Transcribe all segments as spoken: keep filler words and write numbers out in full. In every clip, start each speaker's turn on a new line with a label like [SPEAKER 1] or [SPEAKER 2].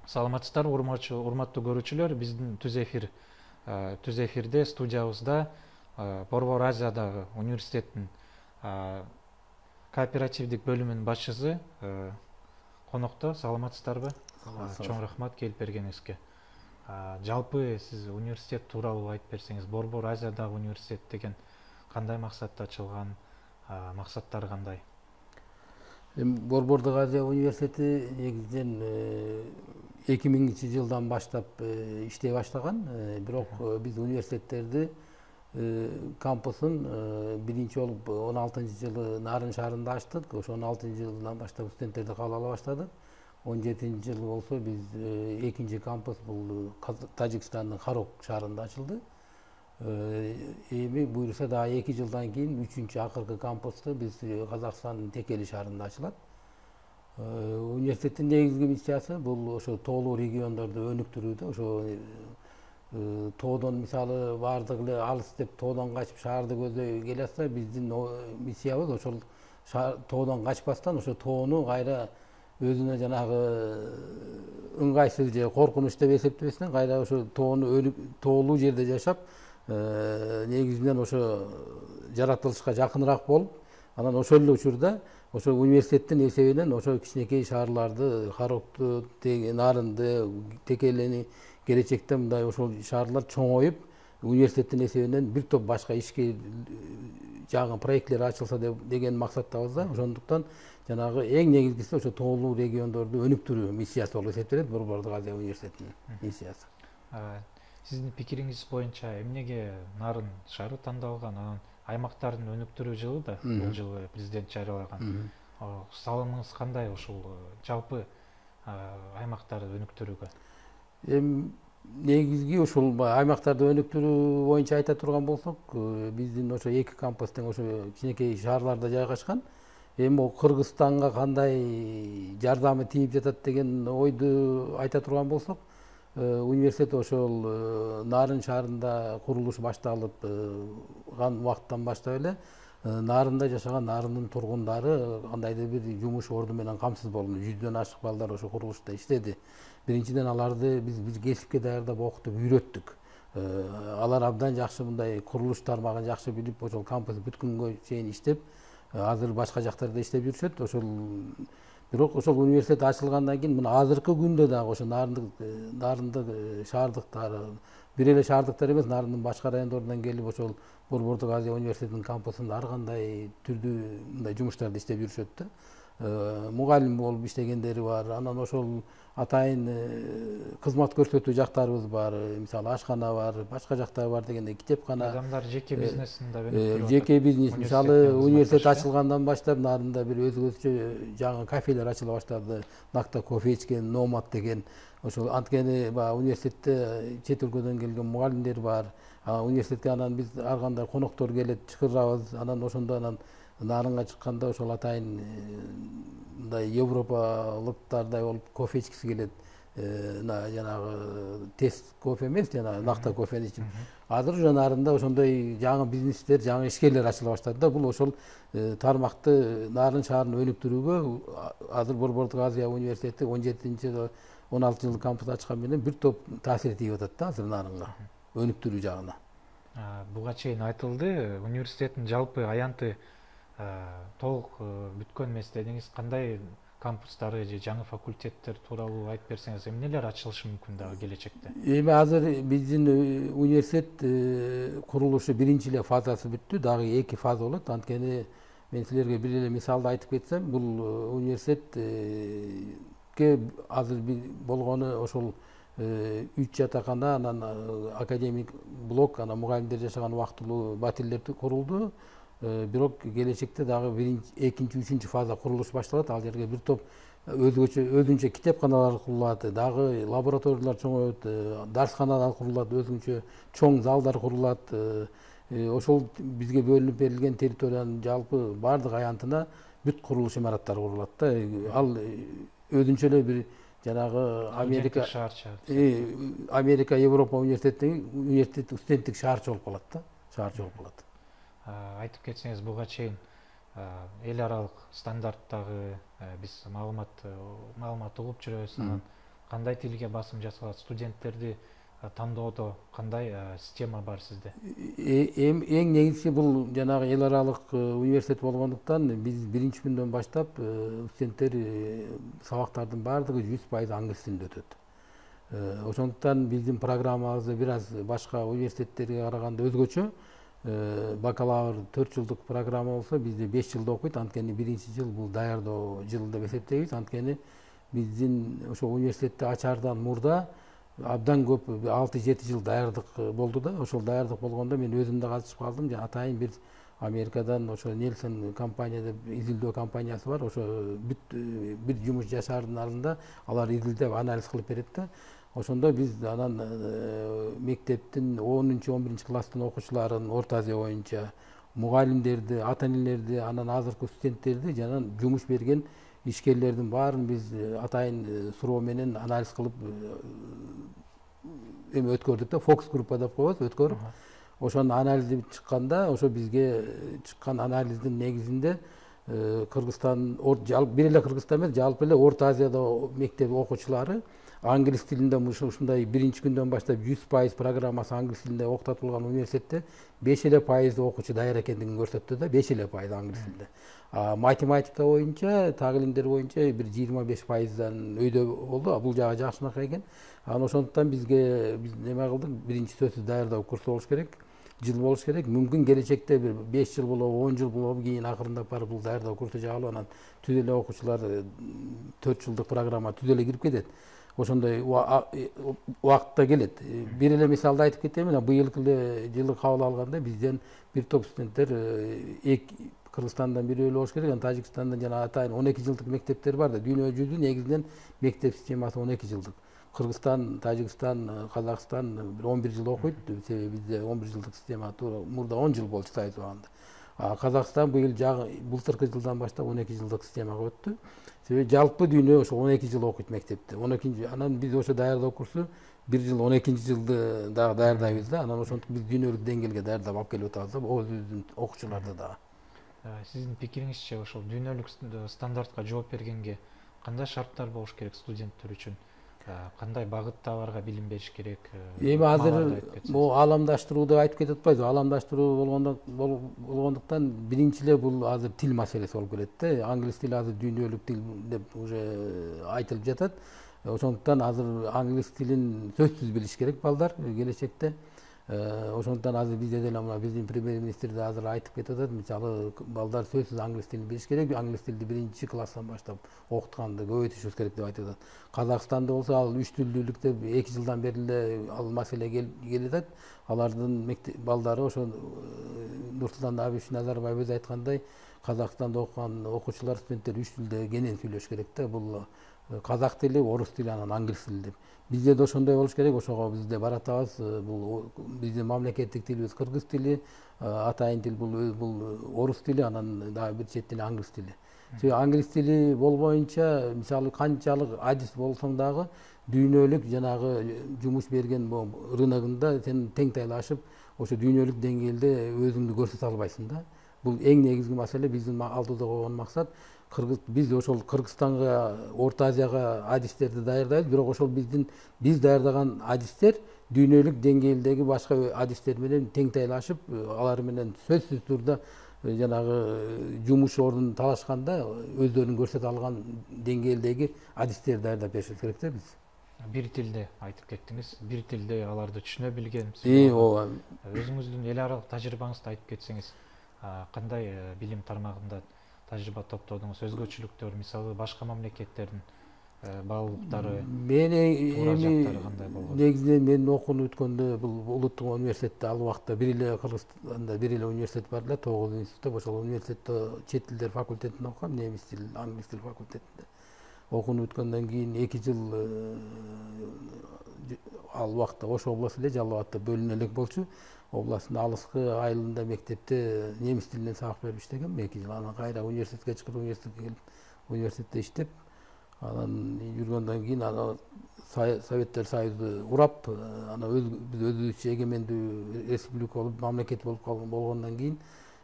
[SPEAKER 1] Саламатсыздарбы, урматтуу көрүүчүлөр. Биздин түз эфир түз эфирде студиябызда Борбор Азиядагы университеттин кооперативдик бөлүмүнүн башчысы конокто. Саламатсыздарбы? Чоң рахмат келип бергениңизге. Жалпы сиз университет тууралуу айтып берсеңиз, Борбор Азиядагы университет деген кандай максатта ачылган, максаттары кандай?
[SPEAKER 2] Борбордук Азия университети негизинен эки миңинчи жылдан баштап иштей баштаган. Бирок биз университеттерди кампусун биринчи болуп он алтынчы жылы Нарын шаарында ачтык. Ошо он алтынчы жылдан баштап студенттерди кабыл ала баштадык. он жетинчи жылы болсо биз экинчи кампус бул Тажикстандын Харок шаарында ачылды. Эми буюрса дагы эки жылдан кийин үчүнчү акыркы кампусту биз Казакстандын Текели шаарында ачылат. Университеттин негизги миссиясы бул ошо тоолуу региондорду өнүктүрүүдө. Ошо тоодон мисалы баардык эле алыс деп тоодон качып шаарды көздөй келе атса, биздин миссиябыз ошол тоодон качпастан ошо тоону кайра өзүнө жанагы ыңгайсыз же коркунуч деп эсептебестен кайра ошо тоону тоолуу жерде жашап, негизинен ошо жаратылышка жакыныраак болуп, анан ошол эле учурда ошо университеттин эсебинен ошо кичинекей шаарларды, Харокту, Нарынды, Текелени келечекте мындай ошол шаарлар чоңоюп, университеттин эсебинен бир топ башка ишке жаңы проектлер ачылса деген максаттабыз да. Ошондуктан жанагы эң негизгиси ошо тоолуу региондорду өнүктүрүү миссиясы болуп эсептелет Борбордук Азия университетинин миссиясы.
[SPEAKER 1] Сиздин пикириңиз боюнча эмнеге Нарын шаары тандалган? Анан аймактардын өнүктүрүү жылы да бул жылы президент жарыялаган. Салымыңыз кандай ушул жалпы аймактарды өнүктүрүүгө?
[SPEAKER 2] Эми негизги ушул аймактарды өнүктүрүү боюнча айта турган болсок, биздин ошо эки кампус тең ошо кичинекей шаарларда жайгашкан. Эми бул Кыргызстанга кандай жардамы тийип жатат деген ойду айта турган болсок, университет ошол Нарын шаарында курулуш башталып убакыттан баштап эле Нарында жашаган Нарындын тургундары кандайдыр бир жумуш орду менен камсыз болду. жүздөн ашык балдар ошо курулушта иштеди. Биринчиден аларды биз бир кесипке даярдап окутуп үйрөттүк. Алар абдан жакшы мындай курулуш тармагын жакшы билип, ошол кампус бүт күнгө чейин иштеп, азыр башка жактарда иштеп жүрүшөт. Ошол бирок ошол университет ачылгандан кийин мына азыркы күндө дагы ошо Нарындык Нарындык шаардыктары, бир эле шаардыктар эмес, Нарындын башка райондорунан келип ошол Борбордук Азия университетинин кампусунда ар кандай түрдүү мындай жумуштарды иштеп жүрүшөт да. Мугалим болуп иштегендери бар. Анан ошол атайын кызмат көрсөтүү жактарыбыз бар. Мисалы ашкана бар, башка жактар бар дегенде китепкана.
[SPEAKER 1] Адамдар жеке бизнесин да өнүктүрүп,
[SPEAKER 2] жеке бизнес. Мисалы университет ачылгандан баштап Нарында бир өзгөчө жаңы кафелер ачыла баштады. Накта кофе ичкен, Номад деген. Ошол анткени баягы университетте чет өлкөдөн келген мугалимдер бар. Университетке анан биз ар кандай коноктор келет, чакырабыз. Анан ошондо анан Нарынга чыкканда ошол атайын мындай европалыктардай болуп кофе ичкиси келет. Жанагы тест кофе эмес, жана накта кофени ичип. Азыр уже Нарында ошондой жаңы бизнестер, жаңы ишкерлер ачыла баштады да. Бул ошол тармакты Нарын шаарын өнүктүрүүгө азыр Борбордук Азия университети он жетинчи он алтынчы жылы кампус ачкан менен бир топ таасир тийип атат да азыр Нарынга, өнүктүрүү жагына.
[SPEAKER 1] Буга чейин айтылды, университеттин жалпы аянты толук бүткөн эмес дедиңиз. Кандай кампустары же жаңы факультеттер тууралуу айтып берсеңиз, эмнелер ачылышы мүмкүн дагы келечекте?
[SPEAKER 2] Эми азыр биздин университет курулушу биринчи эле фазасы бүттү, дагы эки фаза болот. Анткени мен силерге бир эле мисалды айтып кетсем, бул университетке азыр болгону ошол үч жатакана, анан академик блок, анан мугалимдер жашаган убактылуу батирлер курулду. Бирок келечекте дагы экинчи, үчүнчү фаза курулуш башталат. Ал жерге бир топ өзгөчө өзүнчө китепканалар курулат, дагы лабораториялар чоңойот, дарсканалар курулат, өзүнчө чоң залдар курулат. Ошол бизге бөлүнүп берилген территориянын жалпы баардык аянтына бүт курулуш имараттары курулат да. Ал өзүнчө эле бир жанагы Америка
[SPEAKER 1] шаарча.
[SPEAKER 2] Америка Европа университетинин университет студенттик шаарчы болуп калат да, шаарчы болуп калат.
[SPEAKER 1] Айтып кетсеңиз, буга чейин эл аралык стандарттагы биз маалымат маалымат угуп жүрөбүз, анан кандай тилге басым жасалат, студенттерди тандоодо кандай система бар сизде?
[SPEAKER 2] Эң негизги бул жанагы эл аралык университет болгондуктан биз биринчи күндөн баштап студенттер сабактардын баардыгы жүз пайыз англис тилинде өтөт. Ошондуктан биздин программабыз бир аз башка университеттерге караганда өзгөчө. Бакалавр төрт жылдык программа болсо, бизде беш жылда окуйт. Анткени биринчи жыл бул даярдоо жылы деп эсептейбиз. Анткени биздин ошо университетти ачаардан мурда абдан көп алты жети жыл даярдык болду да. Ошол даярдык болгондо мен өзүм да катышып калдым. Атайын бир Америкадан ошо Нельсон компания деп изилдөө компаниясы бар. Ошо бүт бир жумуш жашаардын алдында алар изилдеп анализ кылып берет да. Ошондо биз анан мектептин онунчу он биринчи класстын окуучуларын Орто Азия боюнча мугалимдерди, ата энелерди, анан азыркы студенттерди жана жумуш берген ишкерлердин баарын биз атайын суроо менен анализ кылып эме өткөрдүк да, фокус группа деп коебуз, өткөрүп. Ошону анализдеп чыкканда, ошо бизге чыккан анализдин негизинде Кыргызстан, бир эле Кыргызстан эмес, жалпы эле Орто Азияда мектеп окуучулары англис тилинде ушундай биринчи күндөн баштап жүз пайыз программасы англис тилинде окутулган университетте беш эле пайыз окуучу даяр экендигин көрсөттү да, беш эле пайыз англис тилинде. Математика боюнча, так илимдер боюнча бир жыйырма беш пайыздан өйдө болду. Бул жагы жакшынакай экен. Анан ошондуктан бизге биз неме кылдык, биринчи сөзсүз даярдоо курсу болуш керек, жыл болуш керек. Мүмкүн келечекте бир беш жыл болобу, он жыл болобу, кийин акырындап барып бул даярдоо курсу жабылып, анан түз эле окуучулар төрт жылдык программа түз эле кирип кетет. Ошондой убакытта келет. Бир эле мисалды айтып кетейин. Быйылкы жылы кабыл алганда бизден бир топ студенттер Кыргызстандан бирөө эле болуш керек, анан Тажикстандан жана атайын он эки жылдык мектептер бар да. Дүйнө жүзү негизинен мектеп системасы он эки жылдык. Кыргызстан, Тажикстан, Казакстан бир он бир жыл окуйт. Себеби бизде он бир жылдык система мурда он жыл болчу Союз убагында. Казакстан быйыл былтыркы жылдан баштап он эки жылдык системага өттү. Себеби жалпы дүйнө ошо он эки жыл окуйт мектепте. он экинчи анан биз ошо даярдоо курсу бир жыл он экинчи жылды дагы даярдайбыз да. Анан ошентип биз дүйнөлүк деңгээлге даярдап алып келип атабыз да, өзүбүздүн окуучуларды дагы.
[SPEAKER 1] Сиздин пикириңизче ошол дүйнөлүк стандартка жооп бергенге кандай шарттар болуш керек студенттер үчүн? Кандай багытта аларга билим бериш керек?
[SPEAKER 2] Эми азыр бул ааламдаштыруу деп айтып кетип атпайбызбы? Ааламдаштыруу болгондуктан биринчи эле бул азыр тил маселеси болуп келет да. Англис тили азыр дүйнөлүк тил деп уже айтылып жатат. Ошондуктан азыр англис тилин сөзсүз билиш керек балдар келечекте. Ошондуктан азыр бизде деле мына биздин премьер-министр да азыр айтып кетип атат. Мисалы балдар сөзсүз англис тилин билиш керек. Англис тилди биринчи класстан баштап окутканды көбөйтүшүбүз керек деп айтып атат. Казакстанда болсо ал үч тилдүүлүктө эки жылдан бери эле ал маселе келип атат. Алардын балдары ошо Нурсултан Абишевич Назарбаев өзү айткандай, Казакстанда окуган окуучулар, студенттер үч тилде кенен сүйлөш керек да. Бул казак тили, орус тили, анан англис тили деп. Бизде да ошондой болуш керек. Ошого бизде баратабыз. Бул биздин мамлекеттик тилибиз кыргыз тили, атайын тил бул бул орус тили, анан дагы бир чет тили англис тили. Себеби англис тили болбоюнча, мисалы канчалык адис болсоң дагы дүйнөлүк жанагы жумуш берген рыногунда сен тең тайлашып, ошо дүйнөлүк деңгээлде өзүңдү көрсөтө албайсың да. Бул эң негизги маселе, биздин алдыда койгон максат. Кыргыз биз ошол Кыргызстанга, Орто Азияга адистерди даярдайбыз, бирок ошол биздин биз даярдаган адистер дүйнөлүк деңгээлдеги башка адистер менен тең тайлашып, алар менен сөзсүз турда жанагы жумуш ордун талашканда өздөрүн көрсөтө алган деңгээлдеги адистер даярдап беришибиз керек да биз.
[SPEAKER 1] Бир тилде айтып кеттиңиз. Бир тилде аларды түшүнө билген.
[SPEAKER 2] Ооба.
[SPEAKER 1] Өзүңүздүн эл аралык тажрыйбаңызды айтып кетсеңиз, кандай билим тармагында тажрыйба топтодуңуз? Өзгөчөлүктөр, мисалы башка мамлекеттердин баалуулуктары,
[SPEAKER 2] мен эми негизинен мен окууну өткөндө бул улуттук университетте ал убакта бир эле Кыргызстанда бир эле университет бар эле, тогуз институт. Ошол университетте чет тилдер факультетинде окугам, немис тил, англис тил факультетинде. Окууну өткөндөн кийин эки жыл ал убакта Ош областу эле Жалал Абадта бөлүнө элек болчу. Областтын алыскы айылында мектепте немис тилинен сабак берип иштегем эки жыл. Анан кайра университетке чыгып, университетке келип, университетте иштеп, Анан жүргөндөн кийин ана Советтер Союзу урап, ана биз өзүбүзчө эгемендүү республика болуп, мамлекет болуп болгондон кийин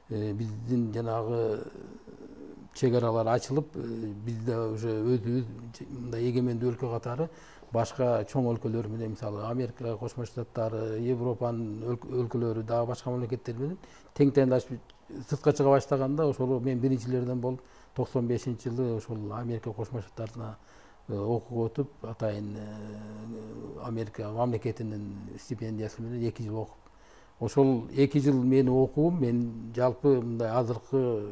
[SPEAKER 2] биздин жанагы чек аралар ачылып, бизде уже өзүбүз мындай эгемендүү өлкө катары башка чоң өлкөлөр менен, мисалы Америка Кошмо Штаттары, Европанын өлкөлөрү, дагы башка мамлекеттер менен тең тендашып сыртка чыга баштаганда, ошол мен биринчилерден болуп токсон бешинчи жылы ошол Америка Кошмо Штаттарына окууга өтүп, атайын Америка мамлекетинин стипендиясы менен эки жыл окуп, ошол эки жыл менин окуум мен жалпы мындай азыркы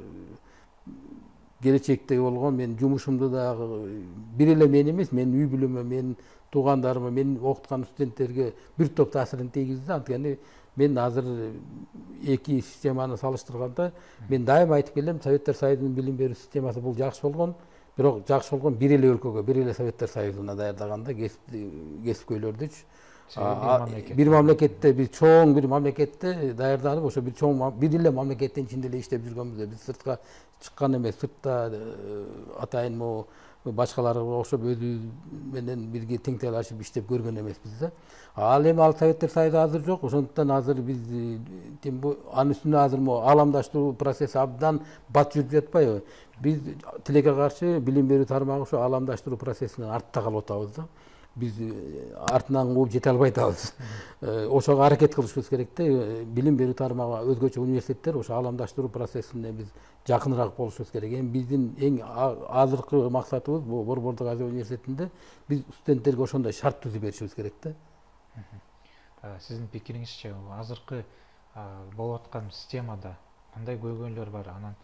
[SPEAKER 2] келечектеги болгон мен жумушумду дагы бир эле мен эмес, менин үй бүлөмө, менин туугандарыма, мен окуткан студенттерге бир топ таасирин тийгизди. Анткени мен азыр эки системаны салыштырганда мен дайыма айтып келем, Советтер Союзунун билим берүү системасы бул жакшы болгон, бирок жакшы болгон бир эле өлкөгө, бир эле Советтер Союзуна даярдаганда кесипкөйлөрдүчү бир мамлекетте, бир чоң бир мамлекетте даярданып, ошо бир чоң бир эле мамлекеттин ичинде эле иштеп жүргөнбүз. Биз сыртка чыккан эмес, сыртта атайын могу башкаларга окшоп өзүбүз менен бирге тең талашып иштеп көргөн эмеспиз да. Ал эми ал Советтер Союзу азыр жок, ошондуктан азыр биз анын үстүнө азыр могу ааламдаштыруу процесси абдан бат жүрүп жатпайбы? Биз тилекке каршы билим берүү тармагы ошо ааламдаштыруу процессинен артта калып атабыз да. Биз артынан кууп жете албай атабыз. Ошого аракет кылышыбыз керек да. Билим берүү тармагы өзгөчө университеттер ошо ааламдаштыруу процессине биз жакыныраак болушубуз керек. Эми биздин эң азыркы максатыбыз бул Борбордук Азия университетинде биз студенттерге ошондой шарт түзүп беришибиз керек да.
[SPEAKER 1] Сиздин пикириңизче азыркы болуп аткан системада кандай көйгөйлөр бар? Анан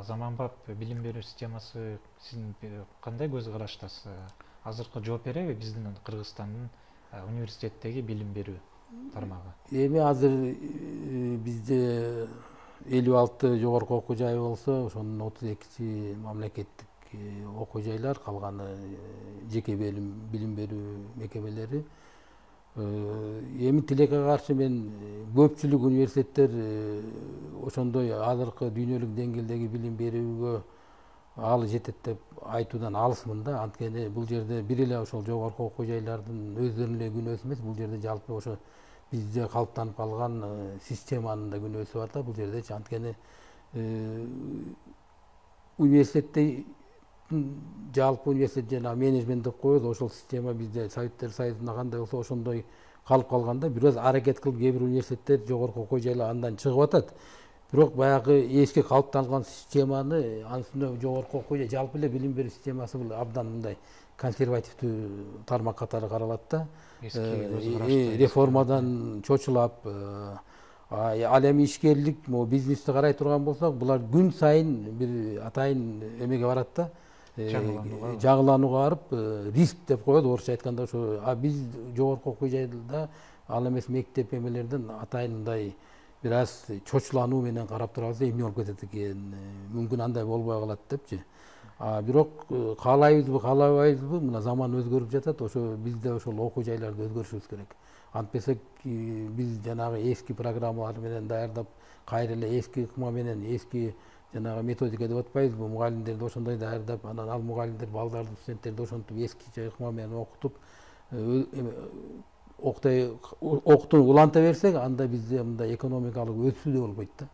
[SPEAKER 1] заманбап билим берүү системасы сиздин кандай көз караштасыз? Азыркы жооп береби биздин Кыргызстандын университеттеги билим берүү тармагы?
[SPEAKER 2] Эми азыр бизде элүү алты жогорку окуу жайы болсо, ошонун отуз экиси мамлекеттик окуу жайлар, калганы жеке билим берүү мекемелери. Эми тилекке каршы мен көпчүлүк университеттер ошондой азыркы дүйнөлүк деңгээлдеги билим берүүгө алы жетет деп айтуудан алысмын да. Анткени бул жерде бир эле ошол жогорку окуу жайлардын өздөрүнүн эле күнөөсү эмес, бул жерде жалпы ошо бизде калыптанып калган системанын да күнөөсү бар да бул жердечи. Анткени университетте жалпы университет жана менеджмент деп коебуз, ошол система бизде Советтер Союзунда кандай болсо ошондой калып калганда, бир аз аракет кылып кээ бир университеттер жогорку окуу жайлар андан чыгып атат. Бирок баягы эски калыптанган системаны, анын үстүнө жогорку окуу жай, жалпы эле билим берүү системасы бул абдан мындай консервативдүү тармак катары каралат да. Реформадан чочулап, ал эми ишкерлик, могу бизнести карай турган болсок, булар күн сайын бир атайын эмеге барат да. Жагыланууга барып, риск деп коет орусча айтканда. Ошо биз жогорку окуу жайда ал эмес мектеп эмелерден атайын мындай бир аз чочулануу менен карап турабыз, эмне болуп кетет экен, мүмкүн андай болбой калат депчи. Бирок каалайбызбы, каалабайбызбы, мына заман өзгөрүп жатат, ошо бизде ошол окуу жайларды өзгөртүшүбүз керек. Антпесек биз жанагы эски программалар менен даярдап, кайра эле эски ыкма менен, эски жанагы методика деп атпайбызбы, мугалимдерди ошондой даярдап, анан ал мугалимдер балдарды, студенттерди ошентип эскиче ыкма менен окутуп, окутай окутууну уланта берсек, анда бизде мындай экономикалык өсүү да болбойт да.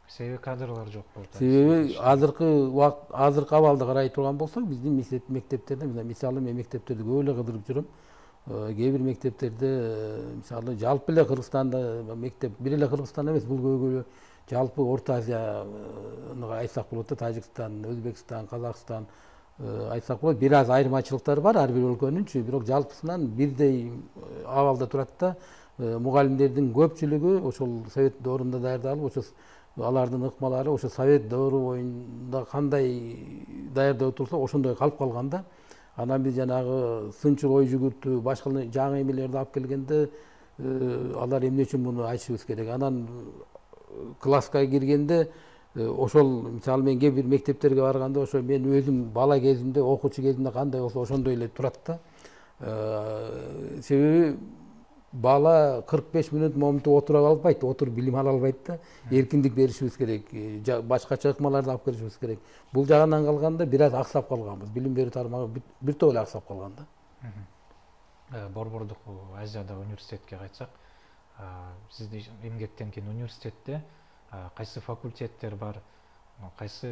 [SPEAKER 1] Себеби кадрлар жок болуп атат.
[SPEAKER 2] Себеби азыркы убакыт, азыркы абалды карай турган болсок, биздин мектептерде, мисалы мен мектептерди көп эле кыдырып жүрөм. Кээ бир мектептерде, мисалы жалпы эле Кыргызстанда мектеп, бир эле Кыргызстан эмес, бул көйгөй жалпы Орто Азияны айтсак болот да, Тажикстан, Өзбекстан, Казакстан айтсак болот. Бир аз айырмачылыктар бар ар бир өлкөнүнчү, бирок жалпысынан бирдей абалда турат да. Мугалимдердин көпчүлүгү ошол совет доорунда даярдалып, ошо алардын ыкмалары ошо совет доору боюнда кандай даярдап отурса ошондой калып калган да. Анан биз жанагы сынчыл ой жүгүртүү, башка жаңы эмелерди алып келгенде алар эмне үчүн муну айтышыбыз керек. Анан класска киргенде ошол, мисалы мен кээ бир мектептерге барганда, ошо мен өзүм бала кезимде, окуучу кезимде кандай болсо ошондой эле турат да. Себеби бала кырк беш мүнөт момунтип отура албайт, отуруп билим ала албайт да. Эркиндик беришибиз керек, башкача ыкмаларды алып келишибиз керек. Бул жагынан калганда бир аз аксап калганбыз. Билим берүү тармагы бир топ эле аксап калган да.
[SPEAKER 1] Борбордук Азиядагы университетке кайтсак, сизди эмгектенген университетте кайсы факультеттер бар, кайсы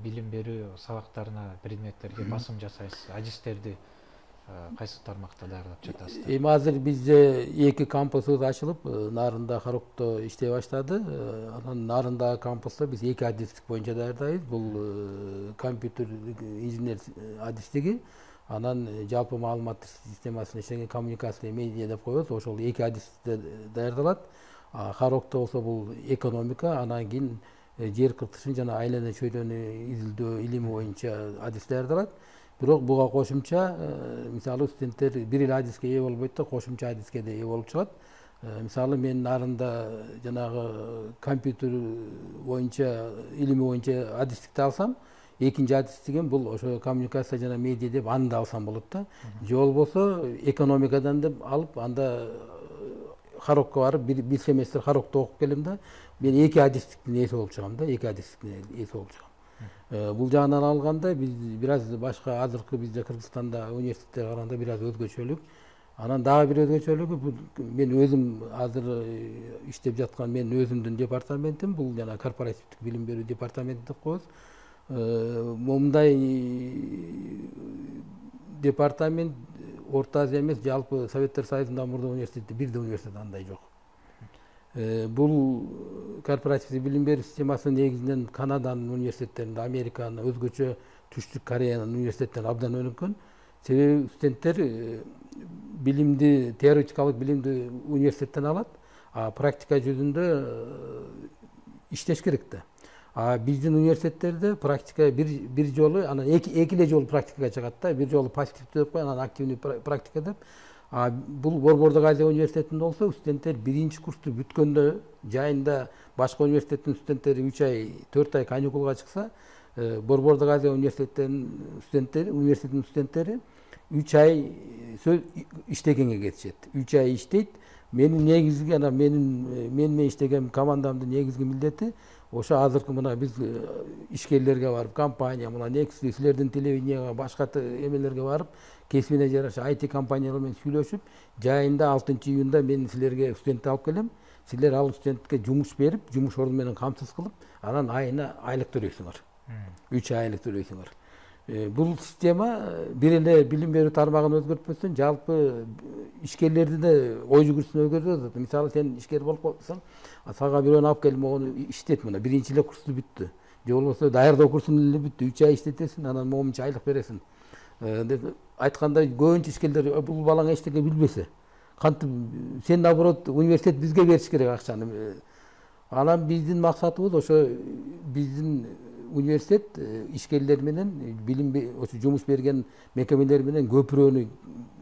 [SPEAKER 1] билим берүү сабактарына, предметтерге басым жасайсыз, адистерди кайсы тармакта даярдап жатасыздар?
[SPEAKER 2] Эми азыр бизде эки кампусубуз ачылып, Нарында, Харокто иштей баштады. Анан Нарындагы кампуста биз эки адистик боюнча даярдайбыз. Бул компьютер инженер адистиги, анан жалпы маалыматтык системасына иштеген коммуникация медиа деп коебуз. Ошол эки адисте даярдалат. Харокто болсо бул экономика, анан кийин жер кыртышын жана айлана чөйрөнү изилдөө илими боюнча адис даярдалат. Бирок буга кошумча, мисалы студенттер бир эле адиске ээ болбойт да, кошумча адиске да ээ болуп чыгат. Мисалы мен Нарында жанагы компьютер боюнча, илими боюнча адистикти алсам, экинчи адис деген бул ошо коммуникация жана медиа деп аны да алсам болот да. Же болбосо экономикадан деп алып, анда Харокко барып бир семестр Харокто окуп келем да, мен эки адистиктин ээси болуп чыгам да, эки адистиктин ээси болуп чыгам. Бул жагынан алганда биз бир аз башка азыркы бизде Кыргызстанда университеттерге караганда бир аз өзгөчөлүк. Анан дагы бир өзгөчөлүгү, мен өзүм азыр иштеп жаткан мен өзүмдүн департаментим, бул жана корпоративдик билим берүү департаменти деп коебуз. Момундай департамент Орто Азия эмес, жалпы Советтер Союзунда мурда университети бирде университет андай жок. Бул корпоративдик билим берүү системасы негизинен Канаданын университеттеринде, Американын, өзгөчө Түштүк Кореянын университеттеринде абдан өнүккөн. Себеби студенттер билимди, теоретикалык билимди университеттен алат, а практика жүзүндө иштеш керек да. А биздин университеттерде практика бир бир жолу, анан эки эки эле жолу практикага чыгат да. Бир жолу пассивдүү деп коет, анан активдүү практика деп. А бул Борбордук Азия университетинде болсо, студенттер биринчи курсту бүткөндө жайында башка университеттин студенттери үч ай, төрт ай каникулга чыкса, Борбордук Азия университеттеринин студенттери, университеттин студенттери үч ай иштегенге кетишет. үч ай иштейт. Менин негизги, анан менин мен менен иштеген командамдын негизги милдети ошо азыркы мына биз ишкерлерге барып, компания, мына некси силердин телевиденияга, башка эмелерге барып, кесибине жараша ай ти компаниялар менен сүйлөшүп, жайында алтынчы июнда мен силерге студентти алып келем. Силер ал студентке жумуш берип, жумуш орду менен камсыз кылып, анан айына айлык төлөйсүңөр. үч айлык төлөйсүңөр. Бул система бир эле билим берүү тармагын өзгөртпөстөн, жалпы ишкерлерди да ой жүгүртүсүн өзгөртөт. Мисалы сен ишкер болуп калсаң, сага бирөөнү алып келип могуну иштет, мына биринчи эле курсу бүттү. Же болбосо даярдоо курсун эле бүттү, үч ай иштетесиң, анан момунча айлык бересиң. Деп айтканда көбүнчө ишкерлер бул балаң эчтеке билбесе, кантип сен наоборот университет бизге бериш керек акчаны. Анан биздин максатыбыз ошо биздин университет ишкерлер менен билим ошо жумуш берген мекемелер менен көпүрөнү,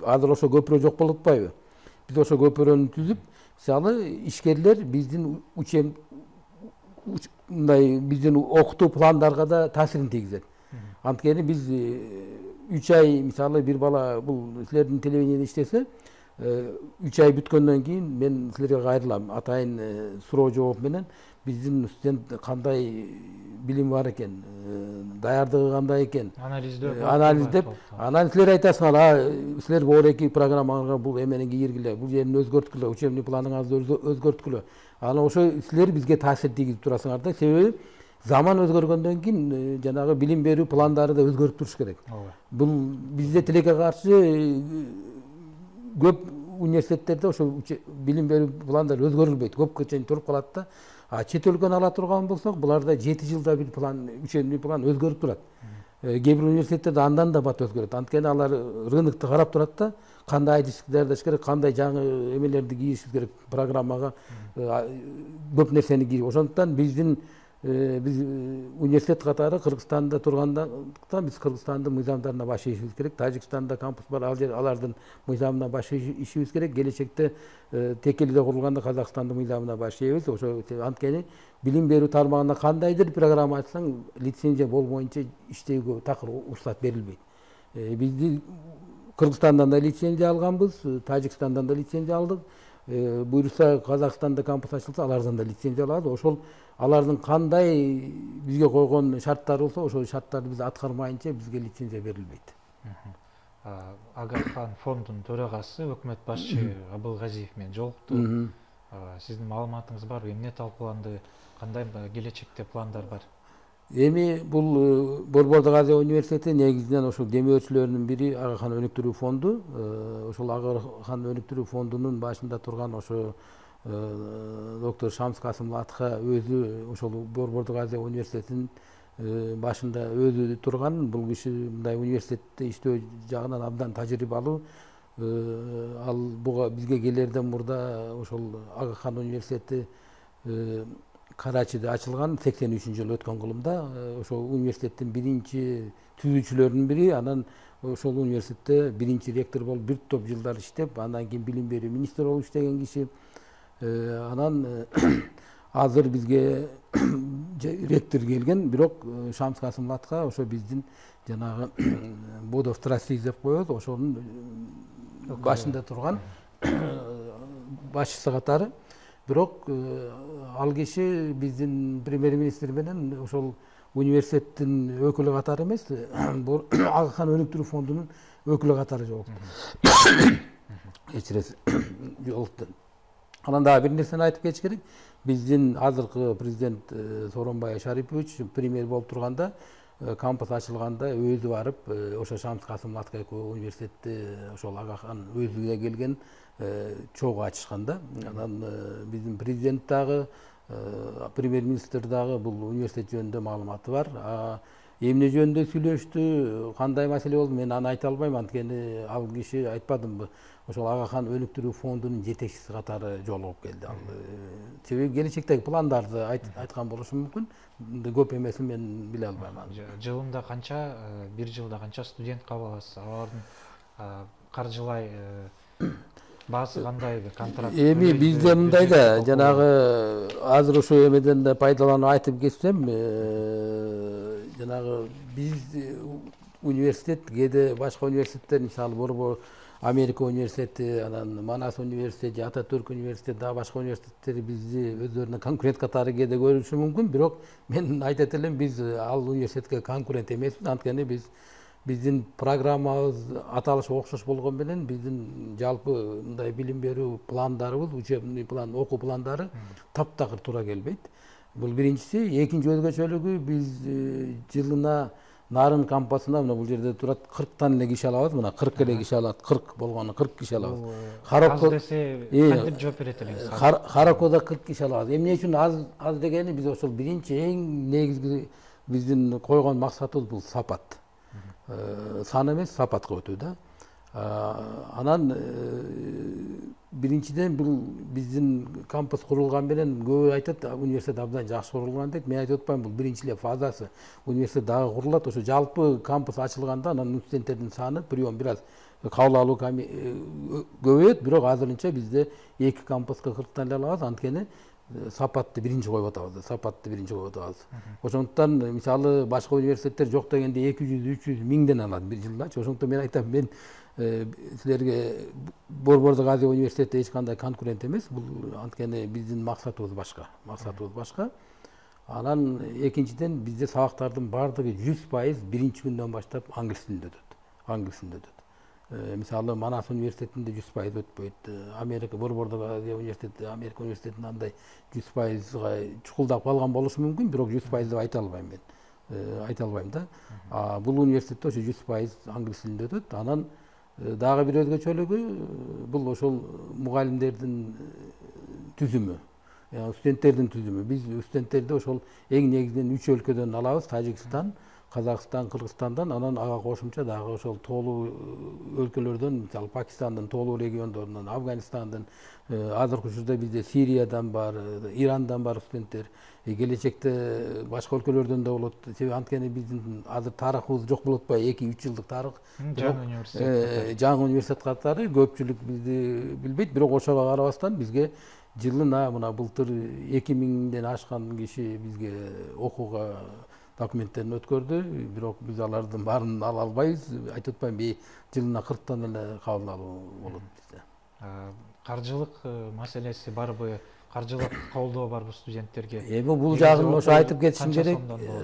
[SPEAKER 2] азыр ошо көпүрө жок болуп атпайбы? Биз ошо көпүрөнү түзүп, мисалы ишкерлер биздин учем мындай биздин окутуу пландарга да таасирин тийгизет. Анткени биз үч ай, мисалы бир бала бул силердин телевидениеде иштесе, үч ай бүткөндөн кийин мен силерге кайрылам, атайын суроо жооп менен биздин студент кандай билими бар экен, даярдыгы кандай экен,
[SPEAKER 1] анализдөө
[SPEAKER 2] анализдеп, анан силер айтасыңар, а силер боор эки программаңарга бул эмени кийиргиле, бул жерин өзгөрткүлө, учебный планыңызды өзгөрткүлө. Анан ошо силер бизге таасир тийгизип турасыңар да, себеби заман өзгөргөндөн кийин жанагы билим берүү пландары да өзгөрүп туруш керек. Бул бизде тилекке каршы көп университеттерде ошо билим берүү пландары өзгөрүлбөйт, көпкө чейин туруп калат да. А чет өлкөнү ала турган болсок, буларда жети жылда бир план, учебный план өзгөрүп турат. Кээ бир университеттерде андан да бат өзгөрөт. Анткени алар рынокту карап турат да, кандай адистик даярдаш керек, кандай жаңы эмелерди кийишибиз керек, программага көп нерсени кийип. Ошондуктан биздин биз университет катары Кыргызстанда тургандыктан биз Кыргызстандын мыйзамдарына баш ийишибиз керек. Тажикстанда кампус бар, ал жер алардын мыйзамына баш ийишибиз керек. Келечекте текелиде курулганда Казакстандын мыйзамына баш ийебиз. Ошо анткени билим берүү тармагында кандайдыр программа ачсаң, лицензия болбоюнча иштөөгө такыр уруксат берилбейт. Бизди Кыргызстандан да лицензия алганбыз, Тажикстандан да лицензия алдык. буюрса Казакстанда кампус ачылса, алардан да лицензия алабыз. Ошол алардын кандай бизге койгон шарттары болсо, ошол шарттарды биз аткармайынча бизге лицензия берилбейт.
[SPEAKER 1] Агахан фондунун төрагасы өкмөт башчы Абылгазиев менен жолукту. Сиздин маалыматыңыз барбы? Эмне талкууланды? Кандай келечекте пландар бар?
[SPEAKER 2] Эми бул Борбордук Азия университети негизинен ошол демөөрчүлөрүнүн бири Агахан өнүктүрүү фонду. Ошол Агахан өнүктүрүү фондунун башында турган ошо доктор Шамс Касым Латха өзү ошол Борбордук Азия университетинин башында өзү турган. Бул киши мындай университетте иштөө жагынан абдан тажрыйбалуу. Ал буга бизге келерден мурда ошол Агахан университети Карачиде ачылган, сексен үчүнчү жылы өткөн кылымда. Ошол университеттин биринчи түзүүчүлөрүнүн бири, анан ошол университетте биринчи ректор болуп бир топ жылдар иштеп, андан кийин билим берүү министри болуп иштеген киши. Анан азыр бизге ректор келген, бирок Шамс Касым Латха ошо биздин жанагы Board of Trustees деп коебуз, ошонун башында турган башчысы катары. Бирок ал киши биздин премьер-министр менен ошол университеттин өкүлү катары эмес, Агахан өнүктүрүү фондунун өкүлү катары жолукту. Кечиресиз, жолукту. Анан дагы бир нерсени айтып кетиш керек. Биздин азыркы президент Сооронбай Шарипович премьер болуп турганда, кампус ачылганда өзү барып, ошо Шамс Касым Латха экөө университетти ошол Агахан өзү да келген чогуу ачышканда, анан биздин президент дагы, премьер-министр дагы бул университет жөнүндө маалыматы бар. Эмне жөнүндө сүйлөштү, кандай маселе болду, мен аны айта албайм, анткени ал киши айтпадымбы, ошол Агахан өнүктүрүү фондунун жетекчиси катары жолугуп келди. Ал себеби келечектеги пландарды айткан болушу мүмкүн. Көп эмесин мен биле албайм.
[SPEAKER 1] Жылында канча, бир жылда канча студент кабыл аласыз? Алардын каржылай баасы кандай, контракт?
[SPEAKER 2] Эми бизде мындай да, жанагы азыр ошо эмеден да пайдаланып айтып кетсем, жанагы биз университет кээде башка университеттер, мисалы Борбор Америка университети, анан Манас университети, Ататүрк университети, дагы башка университеттер бизди өздөрүнө конкурент катары кээде көрүшү мүмкүн, бирок мен айтат элем, биз ал университетке конкурент эмеспиз, анткени биз биздин программабыз аталышы окшош болгон менен биздин жалпы мындай билим берүү пландарыбыз, учебный план, окуу пландары таптакыр туура келбейт. Бул биринчиси. Экинчи өзгөчөлүгү, биз жылына Нарын кампусуна, мына бул жерде турат, кырктан эле киши алабыз, мына кырк эле киши алат, кырк болгону кырк киши алабыз.
[SPEAKER 1] Аз десе кантип жооп берет элеңиз?
[SPEAKER 2] Харакода кырк киши алабыз. Эмне үчүн аз аз дегени, биз ошол биринчи эң негизги биздин койгон максатыбыз бул сапат. Сан эмес, сапатка өтүү да. Анан биринчиден бул биздин кампус курулган менен көбү айтат, университет абдан жакшы курулган дейт. Мен айтып атпайм, бул биринчи эле фазасы. Университет дагы курулат. Ошо жалпы кампус ачылганда анан студенттердин саны, прием бир аз кабыл алуу көбөйөт, бирок азырынча бизде эки кампуска кырктан эле алабыз, анткени сапатты биринчи коюп атабыз, сапатты биринчи коюп атабыз. Ошондуктан мисалы башка университеттер жок дегенде эки жүз үч жүз миңден алат бир жылдачы. Ошондуктан мен айтам, мен силерге Борбордук Азия университети эч кандай конкурент эмес. Бул анткени биздин максатыбыз башка, максатыбыз башка. Анан экинчиден бизде сабактардын баардыгы жүз пайыз биринчи күндөн баштап англис тилинде өтөт. Англис тилинде өтөт. Мисалы Манас университетинде жүз пайыз өтпөйт. Америка Борбордук Азия университети, Америка университетинде андай жүз пайызга чукулдап калган болушу мүмкүн, бирок жүз пайыз деп айта албайм мен. Айта албайм да. Бул университетте ошо жүз пайыз англис тилинде өтөт. Анан дагы бир өзгөчөлүгү бул ошол мугалимдердин түзүмү, студенттердин түзүмү. Биз студенттерди ошол эң негизинен үч өлкөдөн алабыз: Тажикстан, Казакстан, Кыргызстандан, анан ага кошумча дагы ошол тоолуу өлкөлөрдөн, мисалы Пакистандын тоолуу региондорунан, Афганистандын, азыркы учурда бизде Сириядан бар, Ирандан бар студенттер, келечекте башка өлкөлөрдөн да болот. Себеби анткени биздин азыр тарыхыбыз жок болуп атпайбы, эки үч жылдык тарых.
[SPEAKER 1] Жаңы университет.
[SPEAKER 2] Жаңы университет катары көпчүлүк бизди билбейт, бирок ошого карабастан бизге жылына мына былтыр эки миңден ашкан киши бизге окууга документтерин өткөрдү, бирок биз алардын баарын ала албайбыз. Айтып атпайм, жылына кырктан эле кабыл алуу болот бизде.
[SPEAKER 1] каржылык маселеси барбы, каржылык колдоо барбы студенттерге?
[SPEAKER 2] Эми бул жагын ошо айтып кетишим керек,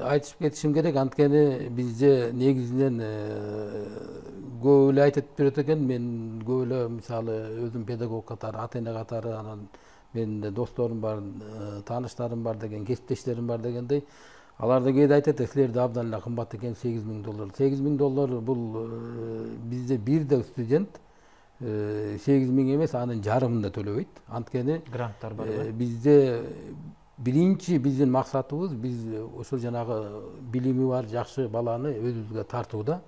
[SPEAKER 2] айтып кетишим керек. Анткени бизде негизинен көп эле айтып берет экен. Мен көп эле мисалы өзүм педагог катары, ата эне катары, анан менин да досторум бар, тааныштарым бар деген, кесиптештерим бар дегендей. Алар да кээде айтат, силерде абдан эле кымбат экен сегиз миң доллар. сегиз миң доллар бул бизде бир да студент сегиз миң эмес, анын жарымын да төлөбөйт. Анткени
[SPEAKER 1] гранттар барбы?
[SPEAKER 2] Бизде биринчи биздин максатыбыз биз ошол жанагы билими бар жакшы баланы өзүбүзгө тартууда.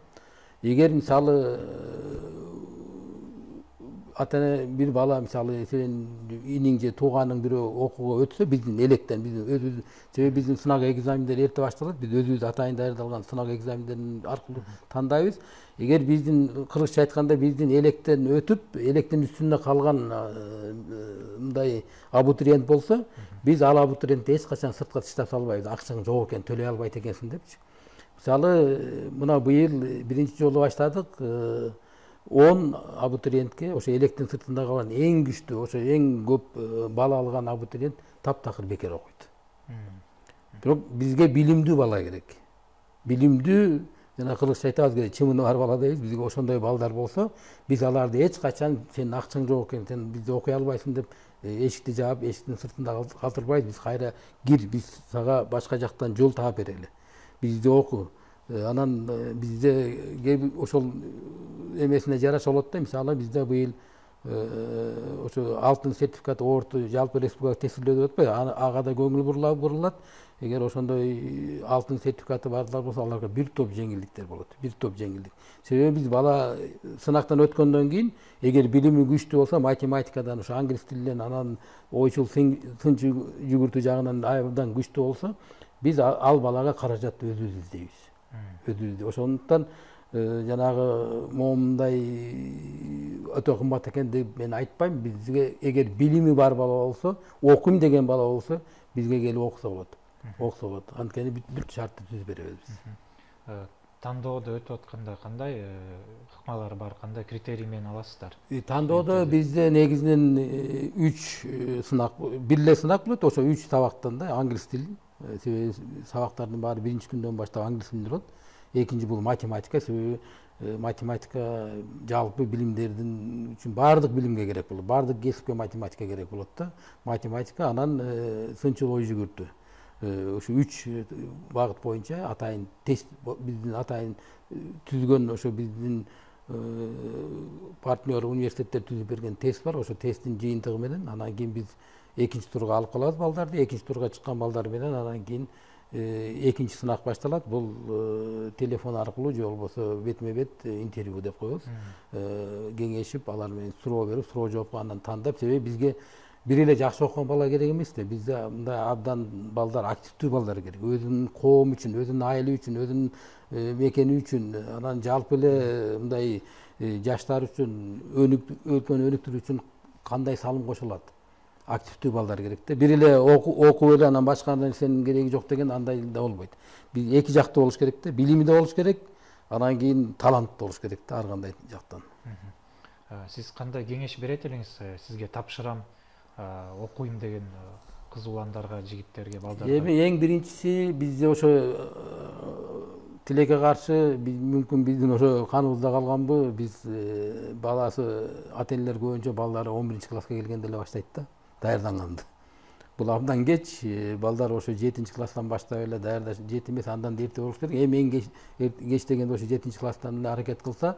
[SPEAKER 2] Эгер мисалы ата эне бир бала мисалы сен иниң же тууганың бирөө окууга өтсө, биздин электен биздин өзүбүз, себеби биздин сынак экзамендер эрте башталат. Биз өзүбүз атайын даярдалган сынак экзамендерин аркылуу тандайбыз. Эгер биздин кыргызча айтканда биздин электен өтүп, электин үстүнө калган мындай абитуриент болсо, биз ал абитуриентти эч качан сыртка таштап салбайбыз. Акчаң жок экен, төлөй албайт экенсиң депчи. Мисалы, мына быйыл биринчи жолу баштадык. он абитуриентке ошо электин сыртында калган эң күчтүү, ошо эң көп бала алган абитуриент таптакыр бекер окуйт. Бирок бизге билимдүү бала керек. Билимдүү, жана кыргызча айтабыз керек, чымыны бар бала дейбиз. Бизге ошондой балдар болсо, биз аларды эч качан сен акчаң жок экен, сен бизде окуй албайсың деп эшикти жаап, эшиктин сыртында калтырбайбыз. Биз кайра кир, биз сага башка жактан жол таап берели. Бизде окуу. Анан бизде ошол эмесине жараша болот да. Мисалы бизде быйыл ошо алтын сертификат орто жалпы республикалык тестилөө деп атпайбы, ага да көңүл бурулат. Эгер ошондой алтын сертификаты барлар болсо, аларга бир топ жеңилдиктер болот. Бир топ жеңилдик. Себеби биз бала сынактан өткөндөн кийин, эгер билими күчтүү болсо, математикадан, ошо англис тилинен, анан ойчул сын жүгүртүү жагынан абдан күчтүү болсо, биз ал балага каражатты өзүбүз издейбиз. Өзүбүз. Ошондуктан жанагы момундай өтө кымбат экен деп мен айтпайм. Бизге эгер билими бар бала болсо, окуйм деген бала болсо, бизге келип окуса болот. Окуса болот. Анткени бүт шартты түзүп беребиз биз.
[SPEAKER 1] Тандоодо өтүп атканда кандай ыкмалар бар, кандай критерий менен аласыздар?
[SPEAKER 2] Тандоодо бизде негизинен үч сынак, бир эле сынак болот, ошо үч сабактан да англис тили. Себеби сабактардын баары биринчи күндөн баштап англис тилинде болот. Экинчи бул математика, себеби математика жалпы билимдердин үчүн баардык билимге керек болот. Баардык кесипке математика керек болот да. Математика, анан сынчыл ой жүгүртүү. Ошо үч багыт боюнча атайын тест, биздин атайын түзгөн, ошо биздин партнер университеттер түзүп берген тест бар. Ошо тесттин жыйынтыгы менен анан кийин биз экинчи турга алып калабыз балдарды. Экинчи турга чыккан балдар менен анан кийин экинчи сынак башталат. Бул телефон аркылуу же болбосо бетме бет интервью деп коебуз. Кеңешип, алар менен суроо берип, суроо жоопко анан тандап, себеби бизге бир эле жакшы окуган бала керек эмес да. Бизде мындай абдан балдар, активдүү балдар керек. Өзүнүн коому үчүн, өзүнүн айылы үчүн, өзүнүн мекени үчүн, анан жалпы эле мындай жаштар үчүн, өлкөнү өнүктүрүү үчүн кандай салым кошулат? Активдүү балдар керек да. Бир эле окуп эле анан башка нерсенин кереги жок деген андай да болбойт. Биз эки жактуу болуш керек да. Билими да болуш керек, анан кийин талант да болуш керек да, ар кандай жактан.
[SPEAKER 1] Сиз кандай кеңеш берет элеңиз? Сизге тапшырам, окуйм деген кыз уландарга, жигиттерге, балдарга?
[SPEAKER 2] Эми эң биринчиси бизде ошо тилекке каршы, мүмкүн биздин ошо каныбызда калганбы, биз баласы, ата энелер көбүнчө балдары он биринчи класска келгенде эле баштайт да, даярданганды. Бул абдан кеч, балдар ошо жетинчи класстан баштап эле даярдаш, жети эмес, андан да эрте болуш керек. Эми эң кеч дегенде ошо жетинчи класстан эле аракет кылса,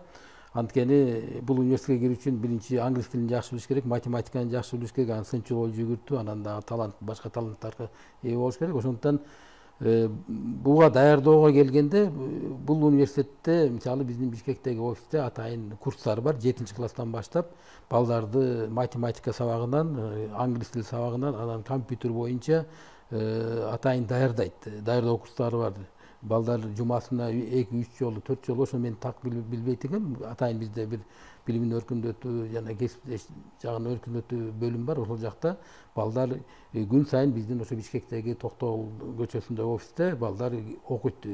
[SPEAKER 2] анткени бул университетке кирүү үчүн биринчи англис тилин жакшы билиш керек, математиканы жакшы билиш керек, анан сынчыл ой жүгүртүү, анан дагы талант, башка таланттарга ээ болуш керек. Ошондуктан буга даярдоого келгенде бул университетте, мисалы биздин Бишкектеги офисте атайын курстар бар. жетинчи класстан баштап балдарды математика сабагынан, англис тили сабагынан, анан компьютер боюнча атайын даярдайт. Даярдоо курстары бар. Балдар жумасына эки үч жолу, төрт жолу, ошо мен так билбейт экенмин. Атайын бизде бир билимин өркүндөтүү жана кесиптеш жагын өркүндөтүү бөлүм бар. Ошол жакта балдар күн сайын биздин ошо Бишкектеги Токтогул көчөсүндө офисте балдар окуйт.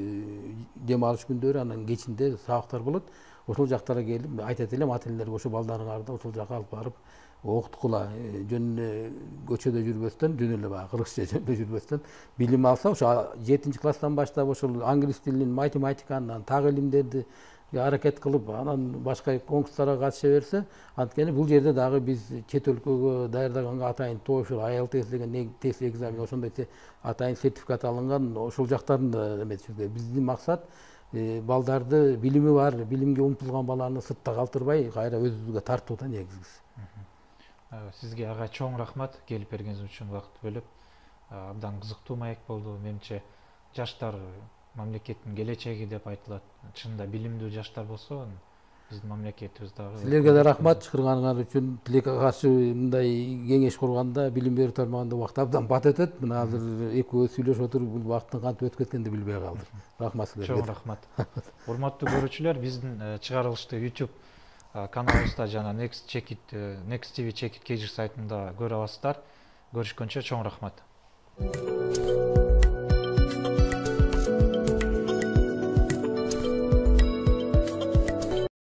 [SPEAKER 2] Дем алыш күндөрү, анан кечинде сабактар болот. Ошол жактарга келип айтат элем ата энелерге, ошо балдарыңарды ошол жака алып барып окуткула жөн эле көчөдө жүрбөстөн, жөн эле баягы кыргызча жөнүндө жүрбөстөн билим алса, ошо жетинчи класстан баштап ошол англис тилин, математиканы, так илимдерди аракет кылып, анан башка конкурстарга катыша берсе, анткени бул жерде дагы биз чет өлкөгө даярдаганга атайын TOEFL, ай эл ти эс деген тест экзамен, ошондой атайын сертификат алынган, ошол жактарын да эметишибиз керек. Биздин максат балдарды билими бар, билимге умтулган баланы сыртта калтырбай, кайра өзүбүзгө тартуу да негизгиси.
[SPEAKER 1] Сизге ага чоң рахмат, келип бергениңиз үчүн, убакыт бөлүп. Абдан кызыктуу маек болду. Менимче жаштар мамлекеттин келечеги деп айтылат. Чынында билимдүү жаштар болсо, биздин мамлекетибиз дагы.
[SPEAKER 2] Силерге да рахмат чакырганыңар үчүн. Тилекке каршы мындай кеңеш курганда, билим берүү тармагында убакыт абдан бат өтөт. Мына азыр экөөбүз сүйлөшүп отуруп, бул убакыттын кантип өтүп кеткенин билбей калдык. Рахмат силерге.
[SPEAKER 1] Чоң рахмат. Урматтуу көрүүчүлөр, биздин чыгарылышты YouTube каналыбызда жана Next Check It, Next ти ви Check It Kg сайтында көрө аласыздар. Көрүшкөнчө чоң рахмат.